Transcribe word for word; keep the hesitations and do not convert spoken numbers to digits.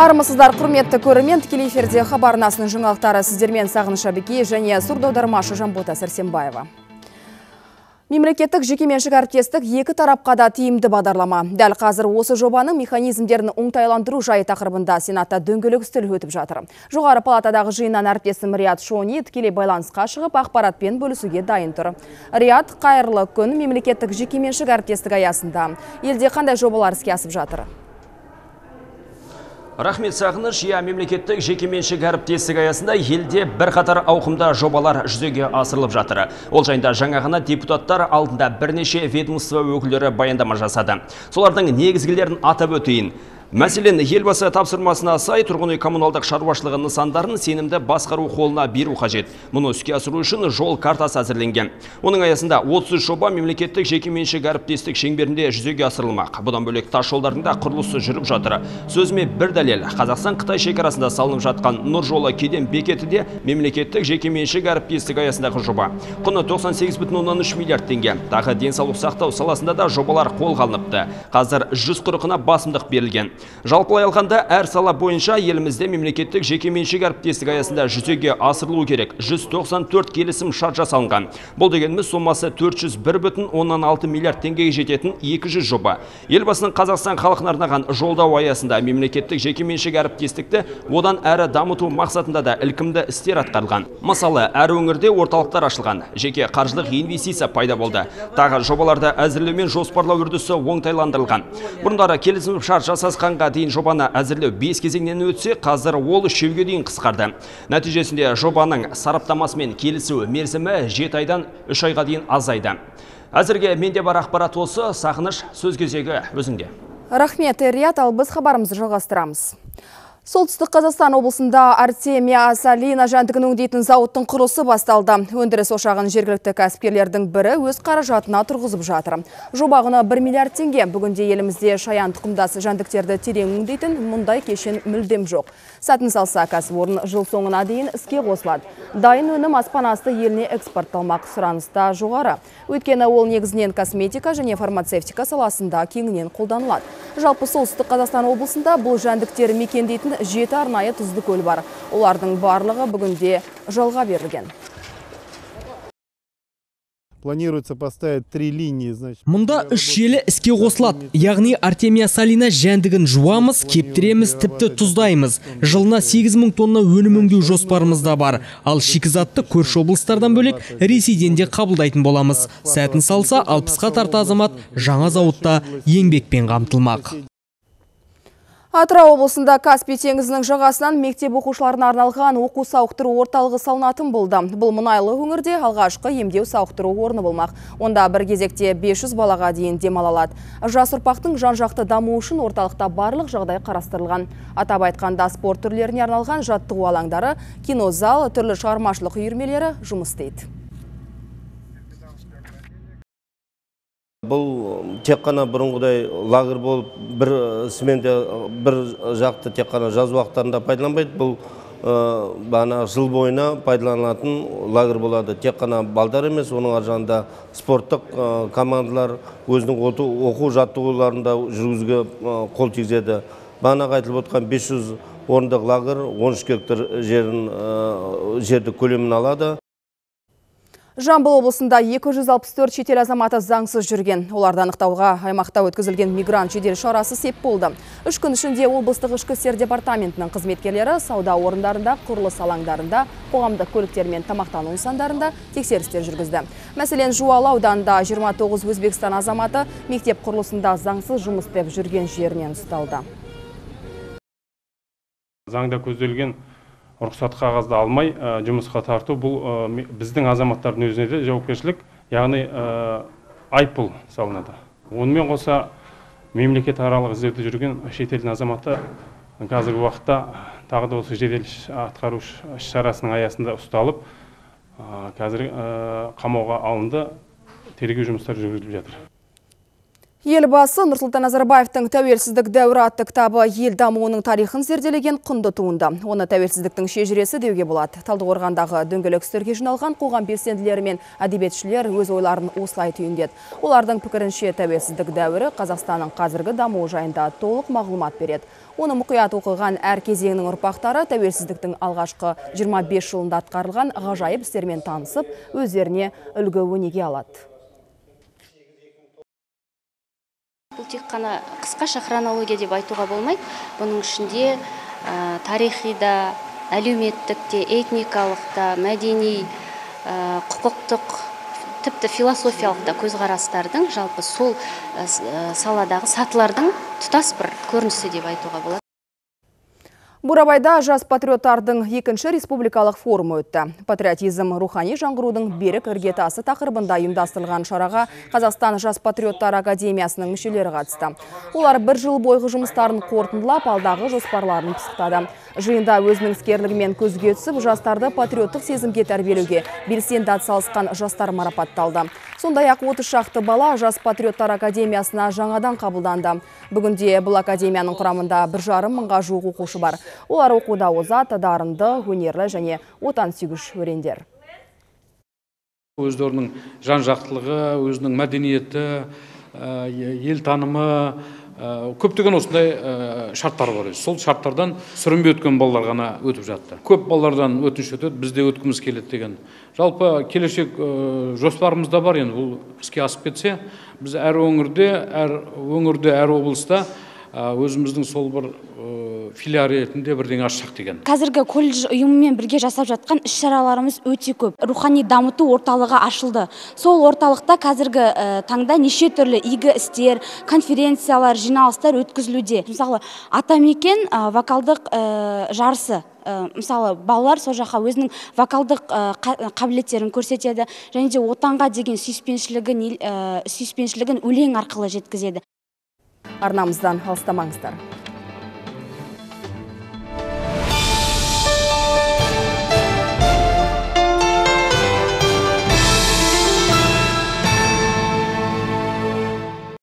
Армысыздар, құрметті көрермен, тікелей эфирде хабар арнасының жаңалықтары сіздермен Сағыныш Абеки және сурдоаудармашы Жанбота Сәрсенбаева. Мемлекеттік жекеменшік әріптестік екі тарапқа да тиімді бағдарлама. Дәл қазір осы жобаның механизмдерін оңтайландыру жайы тақырыбында Сенатта дөңгелек үстел өтіп жатыр. Жоғары палатадағы жиыннан әріптесім Риат Шони тікелей байланысқа шығып ақпаратпен бөлісуге дайын тұр. Риат, қайырлы күн. Мемлекеттік жекеменшік әріптестік аясында елде қандай жобалар іске асып жатыр? Рахмет Сағыныш, я мемлекеттік жекеменшік әріптестік аясында елде бір қатар ауқымда жобалар жүзеге асырылып жатыр. Ол жайында жаңа ғана депутаттар алдында бірнеше ведомство өкілдері баяндама жасады. Солардың негізгілерін атап өтейін. Мәселен, елбасы тапсырмасына сай тұрғын үй коммуналдық шаруашылығы нысандарын сенімді басқару қолына беру қажет. Мұны іске асыру үшін жол картасы әзірленген. Оның аясында отыз үш жоба мемлекеттік жекеменшік әріптестік шеңберінде жүзеге асырылмақ. Бұдан бөлек тас жолдардың да құрылысы жүріп жатыр. Сөзіме бір дәлел, Қазақстан-Қытай шекарасында салынып жатқан Нұр жолы кеден бекеті де мемлекеттік жекеменшік әріптестік аясындағы жоба. Құны тоқсан сегіз бүтін оннан үш миллиард теңге. Тағы денсаулық сақтау саласында да жобалар қолға алыныпты. Қазір жүз қырқына басымдық берілген. Жалпылай алғанда әр сала бойынша елімізде мемлекеттік жекеменшік әріптестік аясында жүзеге асырылу керек. жүз тоқсан төрт келісім шарт жасалынған. Бұл дегеніміз сомасы төрт жүз бір бүтін оннан алты миллиард теңгеге жететін екі жүз жоба. Елбасының Қазақстан халқына арнаған жолдау аясында мемлекеттік жекеменшік әріптестікті одан әрі дамыту мақсатында да ілкімді істер атқарылған. Мысалы, әр өңірде орталықтар ашылған, жеке қаржылық инвестиция пайда болды. Тағы жобаларды әзірлеу мен жоспарлау үрдісі оңтайландырылған. Бұрындары келісім шарт жасасқан дейін жобаны әзірлеу бес кезеңнен өтсе, қазір ол үшеуге дейін қысқарды. Нәтижесінде жобаның сараптамасымен келісу мерзімі жеті айдан үш айға дейін азайды. Әзірге менде бар ақпарат осы. Сағыныш, сөз кезегі өзіңде. Рахмет, Риат, ал біз хабарымызды жалғастырамыз. Солтүстік Қазақстан облысында Артемия Салина жәндігін өңдейтін зауыттың құрылысы басталды. Өндіріс ошағын жергілікті кәсіпкерлердің бірі өз қаражатына тұрғызып жатыр. Жоба құны бір миллиард теңге. Бүгінде елімізде шаян тұқымдас жәндіктерді терең өңдейтін мұндай кешен мүлдем жоқ. Сәтін салса, кәсіпорын жыл соңына дейін іске қосылады. Дайын өнім аспан асты еліне экспортталмақ, сұраныста жоғары. Өйткені ол негізінен косметика және фармацевтика саласында кеңінен қолданылады. Жалпы Солтүстік Қазақстан облысында бұл жәндіктер мекендейтін жеті арнайы тұзды көл бар. Олардың барлығы бүгінде жалға берілген. Планируется поставить три линии, значит. Мұнда үш желі іске қосылады. Яғни Артемия Салина жәндігін жуамыз, кептіреміз, тіпті тұздаймыз. Жылына сегіз мың тонна өнім өңдеу жоспарымызда бар. Ал шикізатты көрші облыстардан бөлек Ресейден де қабылдайтын боламыз. Сәтін салса, алпысқа тарта азамат жаңа зауытта еңбекпен қамтылмақ. Атырау облысында Каспий теңізінің жағасынан мектеп оқушыларына арналған оқу сауықтыру орталығы салынатын болды. Бұл мұнайлы өңірде алғашқы емдеу сауықтыру орны болмақ. Онда бір кезекте бес жүз балаға дейін демала алады. Жас ұрпақтың жан-жақты дамуы үшін орталықта барлық жағдай қарастырылған. Атап айтқанда спорт түрлеріне арналған жаттығу алаңдары, кинозал, түрлі шығармашылық үйірмелері жұмыс істейді. Бұл тек қана бұрынғыдай лагер болып, бір сменде бір жақты тек қана жаз уақыттарында пайдаланбайды. Бұл бана жыл бойына пайдаланатын лагер болады. Тек қана балдар емес, оның аржағында спорттық командалар өзінің оқу жаттығуларында жүргізуге қол тигізеді. Бағана айтылып отқан бес жүз орындық лагер он үш гектар жерді көлемін алады. Жамбыл облысында екі жүз алпыс төрт шетел азаматы заңсыз жүрген. Оларды анықтауға аймақта өткізілген мигрант жедел шарасы сеп болды. Үш күн ішінде облыстық ішкі істер департаментінің қызметкерлері сауда орындарында, құрылыс алаңдарында, қоғамдық көліктер мен тамақтану нысандарында тексерістер жүргізді. Мәселен, Жуалы ауданында жиырма тоғыз Өзбекстан азаматы мектеп құрылысында заңсыз жұмыс істеп жүрген жерінен ұсталды. Заңда көзделген рұқсат қағазды алмай жұмысқа тарту, бұл біздің азаматтардың өзіне де жауапкершілік, яғни айыппұл салынады. Онымен қоса мемлекет аралық іздеуде жүрген шетелдің азаматы қазіргі уақытта тағы да осы жедел атқару шарасының аясында ұсталып, қазір қамауға алынды, тергеу жұмыстары жүргізіліп жатыр. Елбасы Нұрсұлтан Назарбаевтың «Тәуелсіздік дәуірі» атты кітабы ел дамуының тарихын зерделеген құнды туынды. Оны тәуелсіздіктің шежіресі деуге болады. Талдықорғандағы дөңгелек үстелге жиналған қоғам белсенділері мен әдебиетшілер өз ойларын осылай түйіндеді. Олардың пікірінше тәуелсіздік дәуірі Қазақстанның қазіргі дамуы жайында толық мағлұмат береді. Оны мұқият оқыған әр кезеңнің ұрпақтары тәуелсіздіктің алғашқы жиырма бес жылында атқарылған ғажайып істермен танысып, өздеріне үлгі өнеге алады. Бұл тек қана қысқаша хронология деп айтуға болмайды. Бұның ішінде ә, тарихи да, әлеуметтік те, этникалық та, мәдени, ә, құқықтық, тіпті философиялық та көзқарастардың, жалпы сол ә, саладағы сатылардың тұтас бір көрінісі деп айтуға болады. Бурабайда жас патриоттардың екінші республикалық форумы өтті. Патриотизм рухани жаңғырудың берік іргетасы тақырыбында ұйымдастырылған шараға Қазақстан жас патриоттар академиясының мүшелері қатысты. Олар бір жыл бойғы жұмыстарын қорытындылап, алдағы жоспарларын пысықтады. Жиында өзінің іскерлігімен көзге түсіп, жастарды патриоттық сезімге тәрбиелеуге белсенді атсалысқан жастар марапатталды. Сондай-ақ отыз шақты бала жас патриоттар академиясына жаңадан қабылданды. Бүгінде бұл академияның құрамында бір жарым мыңға жуық оқушы бар. Олар оқуда озат, дарынды, өнерлі және отансүйгіш өрендер. Өздерінің жан-жақтылығы, өзінің мәдениеті, ел танымы, көптеген осындай шарттар бар. Сол шарттардан сүрінбей өткен балалар ғана өтіп жатты. Көп балалардан өтініш өтеді, бізде өткіміз келеді деген. Жалпы келешек жоспарымызда бар, енді бұл іске асып кетсе, біз әр өңірде, әр өңірде, әр облыста өзіміздің сол бір филиал ретінде бірдеңе ашсақ деген. Қазіргі колледж ұйымымен бірге жасап жатқан іс-шараларымыз өте көп. Рухани дамыту орталығы ашылды. Сол орталықта қазіргі таңда неше түрлі игі істер, конференциялар, жиналыстар өткізілуде. Мысалы, Атамекен вокалдық жарысы. Мысалы, балалар сол жаққа өзінің вокалдық қабілеттерін көрсетеді, және де отанға деген сүйіспеншілігін өлең арқылы жеткізеді. Арнамыздан алыстамаңыздар.